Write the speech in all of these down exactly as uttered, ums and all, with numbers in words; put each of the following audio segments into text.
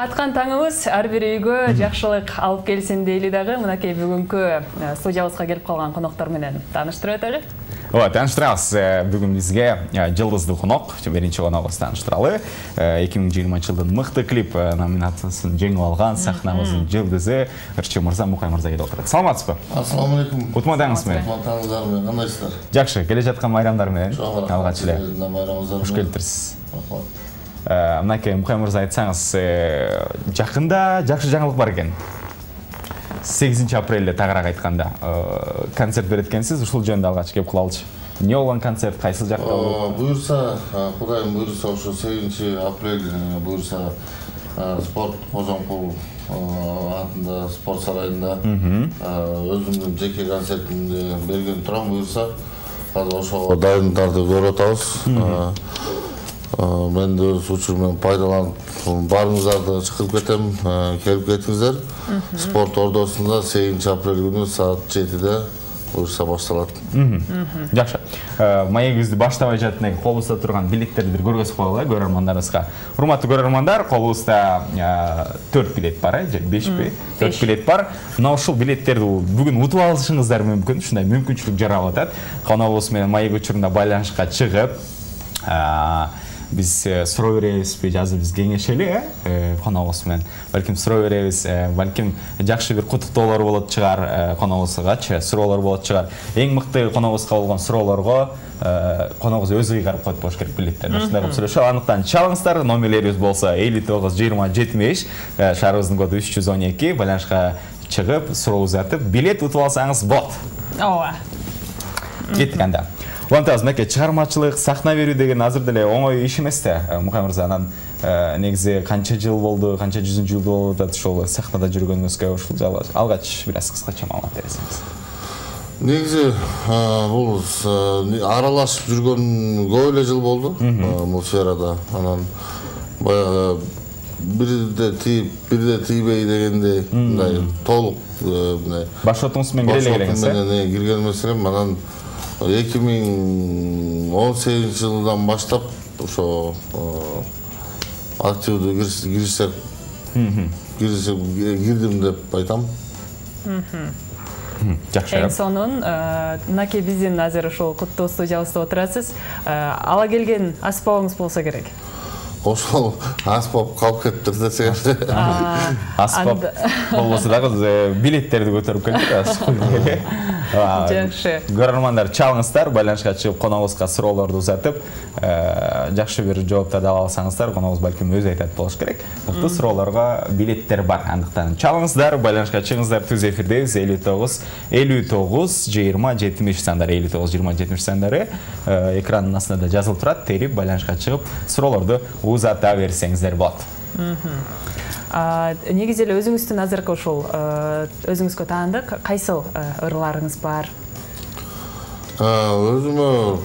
Аткан таңыбыз ар бир үйгө жакшылык алып келсин дейли дагы. Мынакей бүгүнкү студиябызга келип калган коноктор менен тааныштырып өтөлү. Ооба, тааныштырабыз. Бүгүн бизге жылдыздуу конок, биринчи коногубуз тааныштыралы. эки миң жыйырманчы жылдын мыкты клип номинациясын жеңип алган сахнабыздын жылдызы Ырчы мырза, Мукай мырза келип отурат. Саламатсызбы? Ассаламу алейкум. Утмадыңыз менен? Утмадыңыздар менен. Кандайсыздар? Жакшы, келе жаткан майрамдар менен. Алгач эле. Кош келиптирсиз. Мынакей Мукай мырза, айтсаңыз, жакында жакшы жаңылык бар экен. сегизинчи апрелде тагыраак айтканда концерт берет экенсиз, ушул жөнүндө алгач кеп кылалычы. Эмне болгон концерт, кайсы жакта болду? Буюрса, Кудайым буюрса, ошо сегизинчи апрель буюрса спорт Кожомкул атында спорт сарайында өзүмдүн жеке концертимди берген турам буюрса. Азыр ошого дайындарды көрүп атабыз. Мен де өз учуруман пайдаланып барыңыздарды чакырып кетем, келип кетиңиздер. Спорт ордосунда сегизинчи апрель күнү саат жетиде буюрса башталат. Жакшы. Маегибизди баштабай жатып эле колубузда турган билеттерди бир көргөзүп коелу көрөрмандарыбызга. Урматтуу көрөрмандар, колубузда төрт билет бар, же бешпи? төрт билет бар. Мына ушул билеттерди бүгүн утуп алышыңыздар мүмкүн, ушундай мүмкүнчүлүк жаралып атат. Коногубуз менен маек учурунда байланышка чыгып, биз суроо беребизби, азыр биз кеңешели, коногубуз менен. Балким суроо беребиз, балким жакшы бир куттуктоолор болот чыгар, коногубузгачы суроолор болот чыгар. Эң мыкты коногубузга болгон суроолорго коногубуз өзү ыйгарып коет болуш керек билеттерди. Ушундай кылып сүйлөшөбүз. Андыктан чалыңыздар, номерлерибиз болсо элүү тогуз жыйырма жетимиш, шаарыбыздын коду үч жүз он эки, байланышка чыгып, сурообузду айтып, билет утуп алсаңыз болот. Ооба. Кеттик анда. Улантабыз, мынакей чыгармачылык, сахна берүү деген азыр деле оңой иш эмес да. Мукай мырза, анан негизи канча жыл болду, канча жүзүнчү жыл болду ошол сахнада жүргөнүңүзгө ушул алгач бир аз кыскача маалымат бересиңиз. Негизи бул аралашып жүргөн көп эле жыл болду бул сферада. Анан баягы бирде тийип, бирде тийбей дегендей мындай толук мындай башотуңуз менен кире эле элеңиз, э? Кирген эмес элем. Анан эки миң он сегизинчи жылдан баштап ошо активдүү киришсек кирдим деп айтам. Жакшы. Эң сонун мынакей биздин азыр ушул куттуу студиябызда отурасыз. Ала келген аспабыңыз болсо керек. Ошол аспап калып кетиптир десең. Аспап болбосо дагы билеттерди көтөрүп келдик. Жакшы. Көрөрмандар, чалыңыздар, байланышка чыгып коногубузга суроолорду узатып, жакшы бир жооптарды ала алсаңыздар, коногубуз балким өзү айтат болуш керек. Мыкты суроолорго билеттер бар. Андыктан чалыңыздар, байланышка чыгыңыздар, түз эфирдебиз. элүү тогуз жыйырма жетимиш сандары, элүү тогуз жыйырма жетимиш сандары экрандын астында жазылып турат. Терип байланышка чыгып суроолорду узата берсеңиздер болот. Негизи эле өзүңүздүн азыркы ушул өзүңүзгө таандык кайсыл ырларыңыз бар? Өзүмө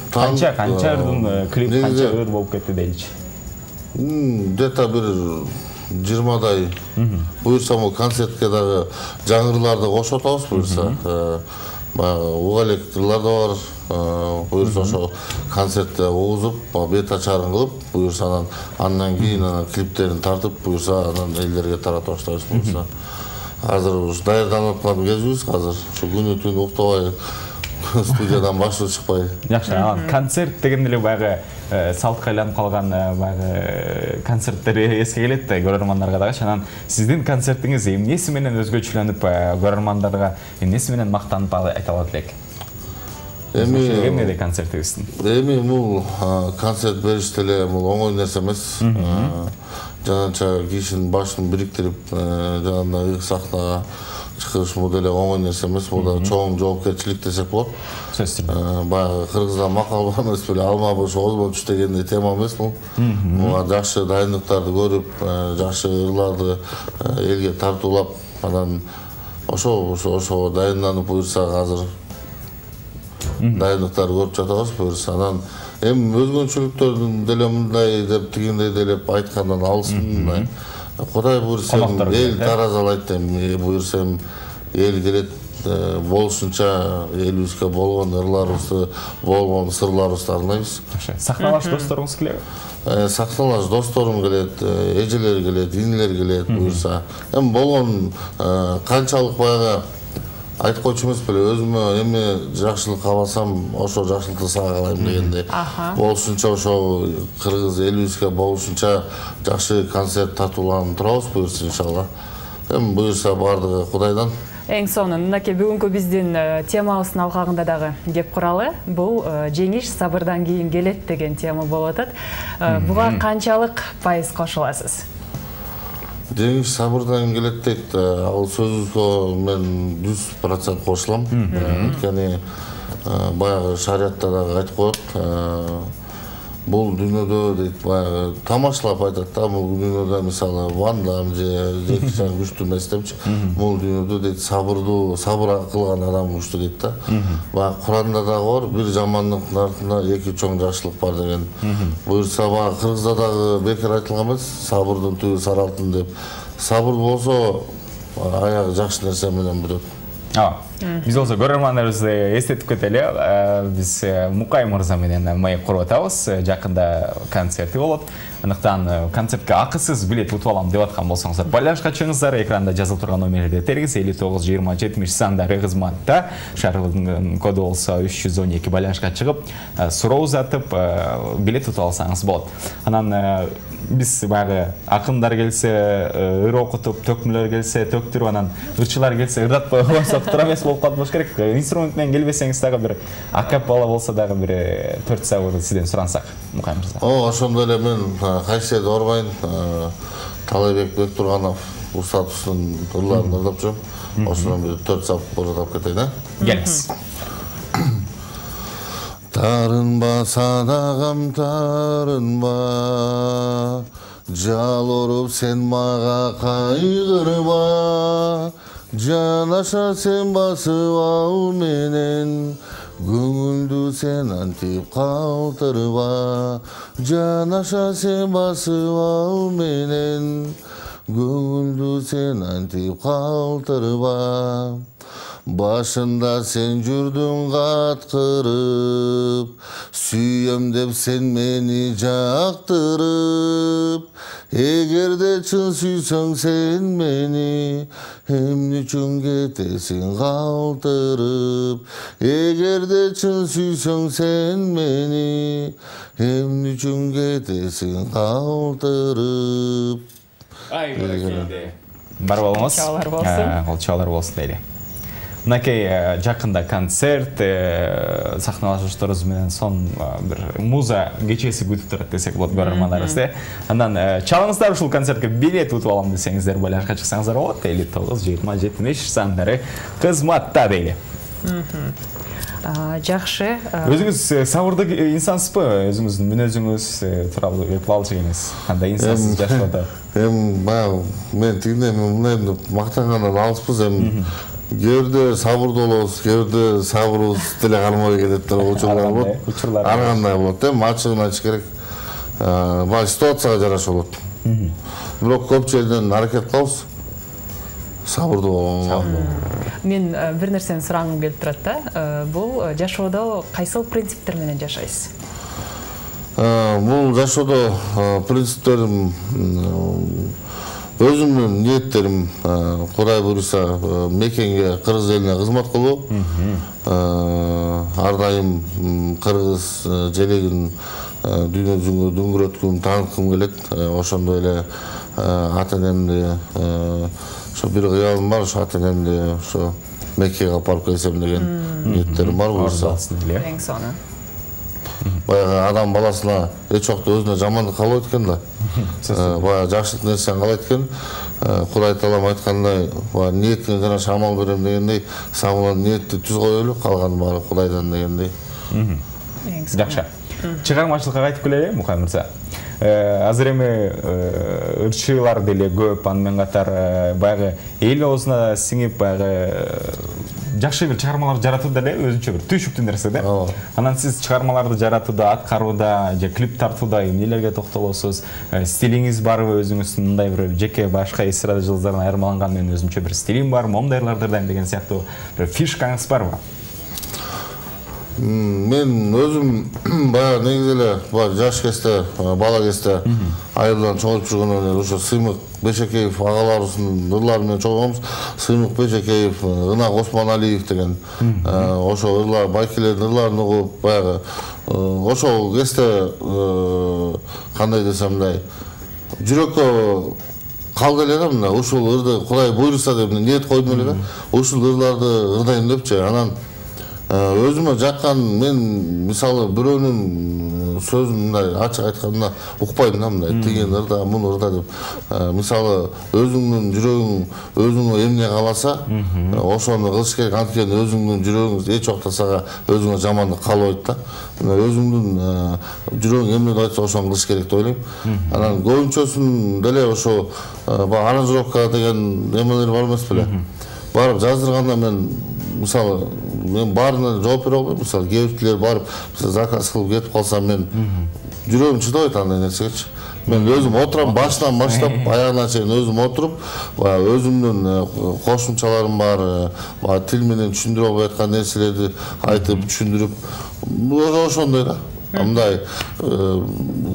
канча канча ырдын клип канча ыр болуп кетти дейчи. Где-то бир жыйырмадай. Буюрса бул концертке дагы жаңырларды кошуп атабыз буюрса. Баягы угалек ырлар да бар. Буюрса ошо концертте угузуп, бет ачарын кылып, буюрса анан андан кийин анан клиптерин тартып, буюрса анан элдерге таратып баштайбыз буюрса. Азыр ушу даярданып аткан кезибиз, азыр ушу күнү түн уктабай студиядан башы чыкпай. Жакшы, анан концерт дегенде эле баягы салтка айланып калган баягы концерттер эске келет да көрөрмандарга дагы. Анан сиздин концертиңиз эмнеси менен өзгөчөлөнүп, көрөрмандарга эмнеси менен мактанып айта алат элек? Эми эмнеде концертибиздин? Эми бул концерт бериш деле бул оңой нерсе эмес. Жанача кишинин башын бириктирип, жанагындай сахнага чыгыш бул деле оңой нерсе эмес. Бул да чоң жоопкерчилик десек болот. Сөзсүз. Баягы кыргызда макал бар эмес беле, алма бош озбон түш дегендей тема эмес бул. Буга жакшы дайындыктарды көрүп, жакшы ырларды элге тартуулап, анан ошо ошо дайынданып буюрса азыр дайындыктарды көрүп жатабыз буюрса. Анан эми өзгөчөлүктөрдүн деле мындай деп тигиндей делеп айткандан алыспын. Кудай буюрса эл таразалайт, эми буюрса эл келет, болушунча элибизге болгон ырларыбызды, болгон сырларыбызды арнайбыз. Сахналаш досторуңуз келеби? Сахналаш досторум келет, эжелер келет, инилер келет буюрса. Эми болгон канчалык баягы айтып койчу эмес беле, өзүмө эми жакшылык кааласам, ошо жакшылыкты сага каалайм дегендей. Болушунча ошо кыргыз элибизге болушунча жакшы концерт тартууланып турабыз буюрса иншалла. Эми буюрса бардыгы Кудайдан. Эң сонун, мынакей бүгүнкү биздин темабыздын алкагында дагы кеп куралы. Бул жеңиш сабырдан кийин келет деген тема болуп атат. Буга канчалык пайыз кошуласыз? Жеңиш сабырдан келет дейт. Ал сөзгө мен жүз процент кошулам. Анткени баягы шариятта дагы айтып коет. Бул дүйнөдө дейт, баягы тамашалап айтат да, бул дүйнөдө мисалы Ван Дам же Джеки Чан күчтүү эмес депчи. Бул дүйнөдө дейт сабырдуу, сабыр кылган адам күчтүү дейт да. Баягы Куранда дагы бар, бир жамандыктын артында эки чоң жакшылык бар деген. Буюрса баягы кыргызда дагы бекер айтылган эмес, сабырдын түбү сары алтын деп. Сабыр болсо аягы жакшы нерсе менен бүтөт. Биз болсо көрөрмандарыбызды эстетип кетели. Биз Мукай мырза менен маек куруп атабыз. Жакында концерти болот. Андыктан концертке акысыз билет утуп алам деп аткан болсоңуздар, байланышка чыгыңыздар. Экранда жазылып турган номерлерди териңиз элүү тогуз жыйырма жетимиш сандары кызматта. Шаарыбыздын коду болсо үч жүз он эки. Байланышка чыгып, суроо узатып, билет утуп алсаңыз болот. Анан биз баягы акындар келсе ыр окутуп, төкмөлөр келсе төктүрүп, анан ырчылар келсе ырдатпай койсок тура эмес болуп калат болуш керек. Инструмент менен келбесеңиз дагы бир акапелла болсо дагы бир төрт сабыр сизден сурансак, Мукай мырза. О, ошондой эле мен кайсы орбайын, Талайбек Бектурганов устатыбыздын ырларын ырдап жүрөм. Ошондон бир төрт сабыр ырдап кетейин, а? Келиңиз. Тарынба садагам тарынба, жал оруп сен мага кайгырба, жанаша сен басып ал менен, көңүлдү сен антип калтырба, жанаша сен басып ал менен, көңүлдү сен антип калтырба. Башында сен жүрдүң каткырып, сүйөм деп сен мени жактырып. Эгерде чын сүйсөң сен мени, эмне үчүн кетесиң калтырып. Эгерде чын сүйсөң сен мени, эмне үчүн кетесиң калтырып. Ай, баракелде. Бар болуңуз. Чабалар болсун. Кол чабалар болсун дейли. Мынакей жакында концерт, сахналашууларыбыз менен сон бир муза кечеси күтүп турат десек болот көрөрмандарыбызды. Андан чалыңыздар ушул концертке билет утуп алам десеңиздер, байланышка чыксаңыздар болот. элүү тогуз жыйырма жетимиш сандары кызматта дейли. Жакшы. Өзүңүз сабырдуу инсансызбы? Өзүңүздүн мүнөзүңүз тууралуу айтып алчу эмес. Кандай инсансыз жашоодо? Эми баягы мен тигиндей мындай мактангандан алыспыз. Эми кээде сабырдуу болобуз, кээде сабырыбыз деле кармабай кетет деп учурлар болот. Ар кандай болот, эми ачыгын айтыш керек. Баягы ситуацияга жараша болот. Бирок көп жерден аракет кылабыз. Сабырдуу болгонго. Мен бир нерсени сурагым келип турат да. Бул жашоодо кайсыл принциптер менен жашайсыз? Бул жашоодо принциптерим, өзүмдүн ниеттерим, Кудай буйруса мекенге, кыргыз элине кызмат кылуу. Ар дайым кыргыз желегин дүйнө жүзүнө дөңгөрөткүм, тааныткым келет. Ошондой эле ата энемди, ошо бир кыялым бар, ошо ата энемди ошо Меккеге алып барып келсем деген ниеттерим бар буюрса. Эң сонун. Баягы адам баласына эч убакта өзүнө жамандык каалабайт экен да. Баягы жакшылык нерсени каалайт экен. Кудай таалам айткандай, баягы ниетиңе жараша амал берем дегендей, самылан ниетти түз коелу, калган баары Кудайдан дегендей. Жакшы. Чыгармачылыкка кайтып келели, Мукай мырза. Азыр эми ырчылар деле көп, аны менен катар баягы эл оозуна сиңип, баягы жакшы бир чыгармалар жаратууда эле өзүнчө бир түйшүктүү нерсе да. Анан сиз чыгармаларды жаратууда, аткарууда, же клип тартууда эмнелерге токтолосуз? Стилиңиз барбы өзүңүздүн мындай бир жеке башка эстрада жылдарынан айырмаланган менин өзүмчө бир стилим бар, моңдайларды дайым деген сыяктуу бир фишкаңыз барбы? Мен өзүм баягы негизи эле баягы жаш кезде, бала кезде айылдан чоңоюп жүргөндөн эле ошо Сыймык Бешекеев агаларыбыздын ырлары менен чоңойгонбуз. Сыймык Бешекеев, Ынак Осмоналиев деген ошо ырлар, байкелердин ырларын угуп баягы ошол кезде кандай десем мындай жүрөккө калды эле да, мына ушул ырды Кудай буйруса деп ниет койдум эле да. Ушул ырларды ырдайм депчи. Анан өзүмө жаккан мен мисалы бирөөнүн сөзүн мындай ачык айтканда укпайм да, мындай тиген ырда, муну ырда деп. Мисалы өзүңдүн жүрөгүң өзүңө эмне кааласа, ошону кылыш керек. Анткени өзүңдүн жүрөгүң эч убакта сага өзүңө жамандык каалабайт да. Өзүңдүн жүрөгүң эмне айтса ошону кылыш керек деп ойлойм. Анан көбүнчөсүн деле ошо аранжировка деген эмелер бар эмес беле. Барып жаздырганда мен мисалы мен баарына жооп бере албайм. Мисалы кээ бирлер барып заказ кылып кетип калса мен жүрөгүм чыдабайт андай нерсегечи. Мен өзүм отурам, башынан баштап аягына чейин өзүм отуруп, өзүмдүн кошумчаларым бар, тил менен түшүндүрө албай аткан нерселерди айтып түшүндүрүп, ошондой да. Мындай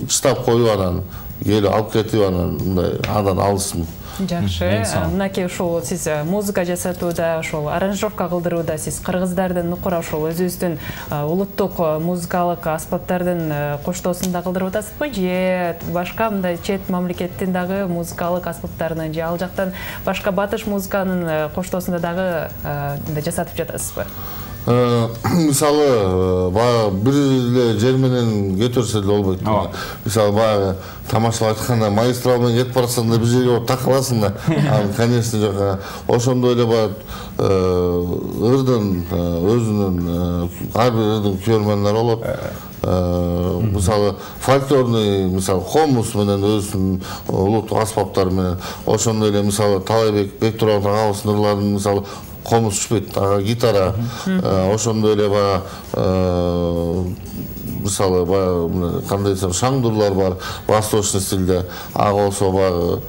чытап коюп анан келип алып кетип анан мындай андан алысмын. Жакшы. Мынакей ушул сиз музыка жасатууда, ошол аранжировка кылдырууда сиз кыргыздардын нукура ошол өзүбүздүн улуттук музыкалык аспаптардын коштоосун да кылдырып атасызбы, же башка мындай чет мамлекеттин дагы музыкалык аспаптарынын, же ал жактан башка батыш музыканын коштоосун дагы жасатып жатасызбы? Мисалы, бир эле жер менен кетөрсө деле болбойт. Мисалы, баягы тамашалап айтканда магистрал менен кетип барасаң да бир жерге барып такаласың да. Конечно жок. Ошондой эле бар ырдын өзүнүн ар бир ырдын көрмөнлөрү болот. Мисалы, фольклорный, мисалы, комуз менен өзүнүн улуттук аспаптары менен, ошондой эле мисалы Талайбек Бектурганов агабыздын ырларын мисалы комуз түшпөйт, гитара, ошондой эле баягы мисалы баягы кандай десем шаңдурлар бар, восточный стилде, ага болсо баягы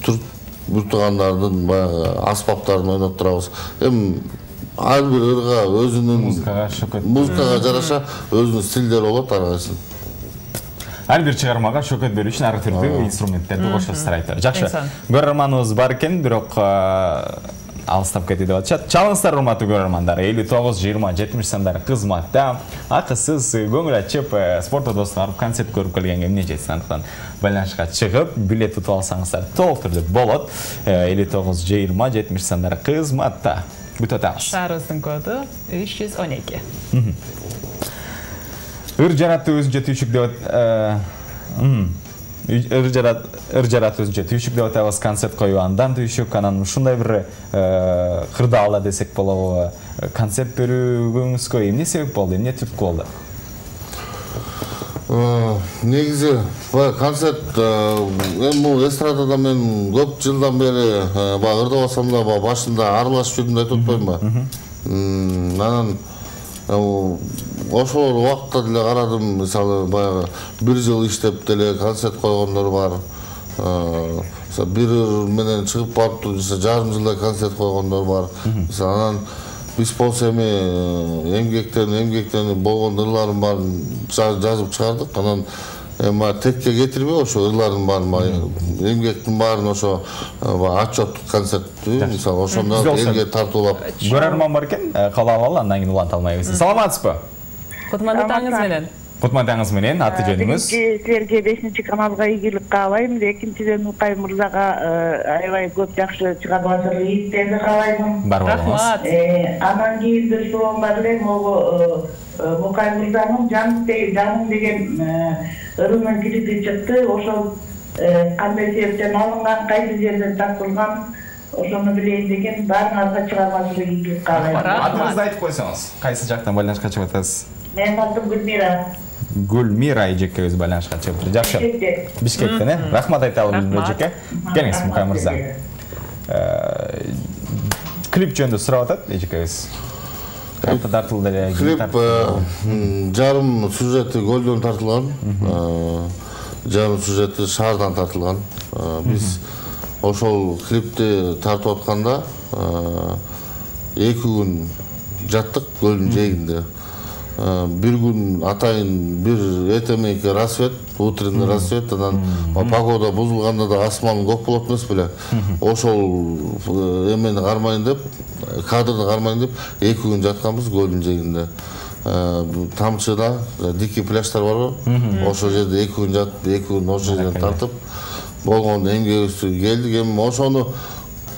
түрк буртугандардын баягы аспаптарын ойноп турабыз. Эми ар бир ырга өзүнүн музыкага жараша өзүнүн стилдери болот ар кайсынын. Ар бир чыгармага шөкөт берүү үчүн ар түрдүү инструменттерди кошосуздар айтор. Жакшы. Көрөрманыбыз бар экен, бирок алыстап кетти деп атышат. Чалыңыздар, урматтуу көрөрмандар. элүү тогуз жыйырма жетимиш сандары кызматта. Акысыз көңүл ачып спорт одосуна барып концерт көрүп келгенге эмне жетсин, андыктан байланышка чыгып билет утуп алсаңыздар толук түрдө болот. элүү тогуз жыйырма жетимиш сандары кызматта. Бүтөт атабыз. Шаарыбыздын коду үч жүз он эки. Ыр жаратты өзүнчө түйшүк деп ыр жарат өзүнчө түйшүк деп атабыз, концерт коюу андан түйшүк, анан ушундай бир кырдаалда десек болобу, концерт берүүгөңүзгө эмне себеп болду, эмне түрткү болду? Негизи концерт эми бул эстрадада мен көп жылдан бери баягы ырдабасам да башында аралашып жүрдүм деп айтып атпаймынбы? Анан ошол убакытта деле карадым, мисалы баягы бир жыл иштеп деле концерт койгондор бар. Бир менен чыгып барып жарым жылда концерт койгондор бар. Анан биз болсо эми эмгектен эмгектен болгон ырларым баарын жазып чыгардык. Анан эми текке кетирбей ошо ырлардын баарын, эмгектин баарын ошо отчет концерттүү мисалы ошондо элге тартуулап. Көрөрман бар экен, кабыл алалы, андан кийин уланта алмайбыз. Саламатсызбы? Кутмандатаңыз менен. Кутмандатаңыз менен, аты жөнүңүз? Силерге бешинчи каналга ийгилик каалайм. Экинчиден Укай мырзага аябай көп жакшы чыгармачылык ийгиликтерди каалайм. Рахмат. Анан кийин бир суроом бар эле, могу Укай мырзанын жаным деген ырынын клипи чыкты. Ошол кандай себептен алынган, кайсы жерден тартылган, ошону билейин деген, баарыңарга чыгармачылык ийгилик каалайм. Атыңызды айтып койсоңуз, кайсы жактан байланышка чыгып атасыз? Мен атым Гүлмира. Гүлмира эжекебиз байланышка чыгып. Жакшы. Бишкектен, э? Рахмат айталы Гүлмира эжеке. Келиңиз, Мукай мырза. клип жөнүндө сурап атат эжекебиз. Картта тартылды эле. Клип жарым сюжети Көлдөн тартылган. Жарым сюжети шаардан тартылган. Биз ошол клипти тартып атканда эки күн жаттык көлдүн жээгинде. Бир күн атайын бир эртемейки рассвет, утренний рассвет, анан погода бузулганда да асман көк болот эмес беле. Ошол эмени кармайын деп, кадрды кармайын деп эки күн жатканбыз көлдүн жээгинде. Тамчыда дикий пляждар барбы? Ошол жерде эки күн жатып, эки күн ошол жерден тартып болгон эмгегибизди келдик. Эми ошону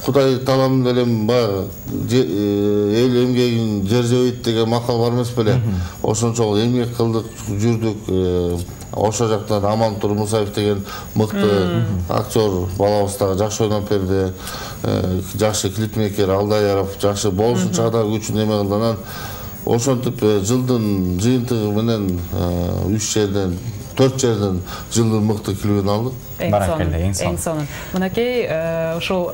Кудай таалам делем баягы эл эмгегин жер жебейт деген макал бар эмес беле. Ошончолук эмгек кылдык, жүрдүк. Ошол жактан Амантур Мусаев деген мыкты актер балабыз дагы жакшы ойноп берди. Жакшы клипмейкер Алдаяров жакшы болушунча да күчүн эме кылды. Анан ошентип жылдын жыйынтыгы менен үч жерден төрт жерден жылдын мыкты клибин алдык. Эң сонун. Мынакей ошол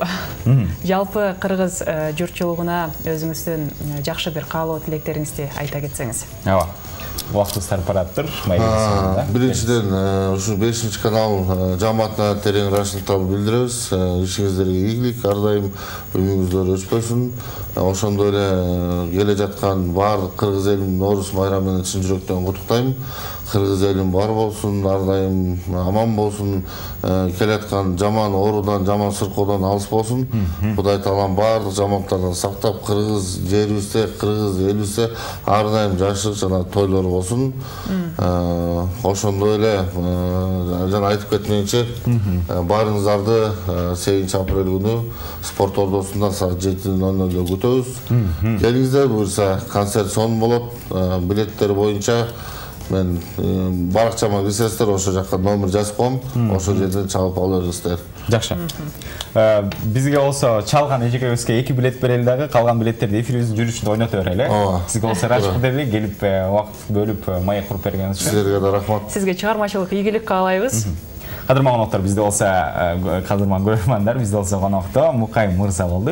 жалпы кыргыз журтчулугуна өзүңүздүн жакшы бир каалоо тилектериңизди айта кетсеңиз. Ооба. Убактыбыз тарып бараптыр. Биринчиден ушу бешинчи канал жамаатына терең ыраазычылыктарды билдиребиз. Ишиңиздерге ийгилик, ар дайым өмүңүздөр өчпөсүн. Ошондой эле келе жаткан баардык кыргыз элин Нооруз байрамы менен чын жүрөктөн куттуктайм. Кыргыз элим бар болсун, ар дайым аман болсун. Келаткан жаман оорудан, жаман сыркоодон алыс болсун. Кудай таалам баардык жамандыктардан сактап, кыргыз жерибизде, кыргыз элибизде ар дайым жашык жана тойлор болсун. Ошондой эле жана айтып кетмейинче, баарыңыздарды сегизинчи апрель күнү спорт ордосунда саат жети ноль нольдо күтөбүз. Келиңиздер, буюрса концерт сонун болот. Билеттер боюнча мен баракчама кирсеңиздер, ошол жакка номер жазып коем. Ошол жерден чалып ала бериңиздер. Жакшы. Бизге болсо чалган эжекебизге эки билет берели дагы, калган билеттерди эфирибиздин жүрүшүндө ойното берели. Сизге болсо рахмат деле, келип убакыт бөлүп маек куруп бергениңиз үчүн. Силерге да рахмат. Сизге чыгармачылык ийгилик каалайбыз. Кадырман коноктор, бизде болсо кадырман көрөрмандар, бизде болсо конокто Мукай мырза болду.